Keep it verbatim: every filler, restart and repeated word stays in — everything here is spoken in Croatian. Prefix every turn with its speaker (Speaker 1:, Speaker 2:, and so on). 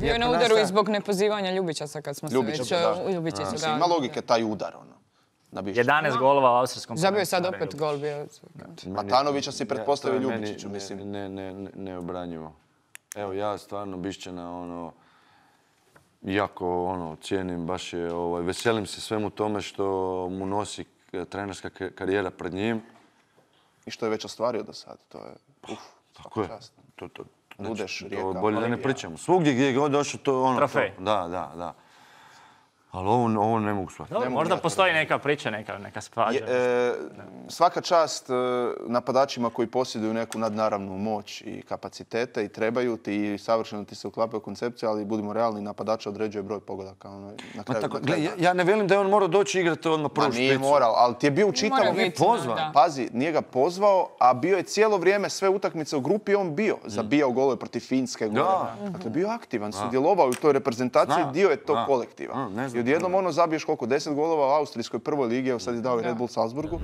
Speaker 1: Bio je na udaru i zbog nepozivanja Ljubića kad smo se već u Ljubičiću.
Speaker 2: Ima logike taj udar, ono.
Speaker 3: jedanaest golova u austrijskom prvenstvu.
Speaker 1: Zabio je sad opet gol bio.
Speaker 2: Matanovića si pretpostavio Ljubičiću, mislim.
Speaker 4: Neobranjivo. Evo, ja stvarno Bišćana, ono, jako, ono, cijenim, baš je, ovaj, veselim se svemu tome što mu nosi trenerska karijera pred njim.
Speaker 2: I što je već ostvario do sad, to je, uf,
Speaker 4: tako je. To, to,
Speaker 2: Budeš, Rijeka.
Speaker 4: Bolje da ne pričamo. Svugdje gdje je god došao, to je ono...
Speaker 3: Trofej.
Speaker 4: Da, da, da. Ali ovo, ovo ne mogu shvatiti.
Speaker 3: Dobro, možda postoji neka priča, neka, neka svađa.
Speaker 2: E, svaka čast e, napadačima koji posjeduju neku nadnaravnu moć i kapacitete i trebaju ti i savršeno ti se uklapaju koncepcije, ali budimo realni, napadača određuje broj pogodaka. Ono, na kraju,
Speaker 4: tako,
Speaker 2: na kraju.
Speaker 4: ja, ja ne velim da je on morao doći igrati odmah prvu špicu.
Speaker 2: Nije morao, ali ti je bio u čitavom...
Speaker 4: Nije pozvan.
Speaker 2: Pazi, nije ga pozvao, a bio je cijelo vrijeme sve utakmice u grupi, on bio. Zabijao golove protiv Finske.
Speaker 4: Da.
Speaker 2: Dakle, bio aktivan, sudjelovao u toj reprezentaciji, dio je tog kolektiva. I odjednom ono zabiješ koliko, deset golova u austrijskoj prvoj ligi, evo sad je dao i Red Bull Salzburgu.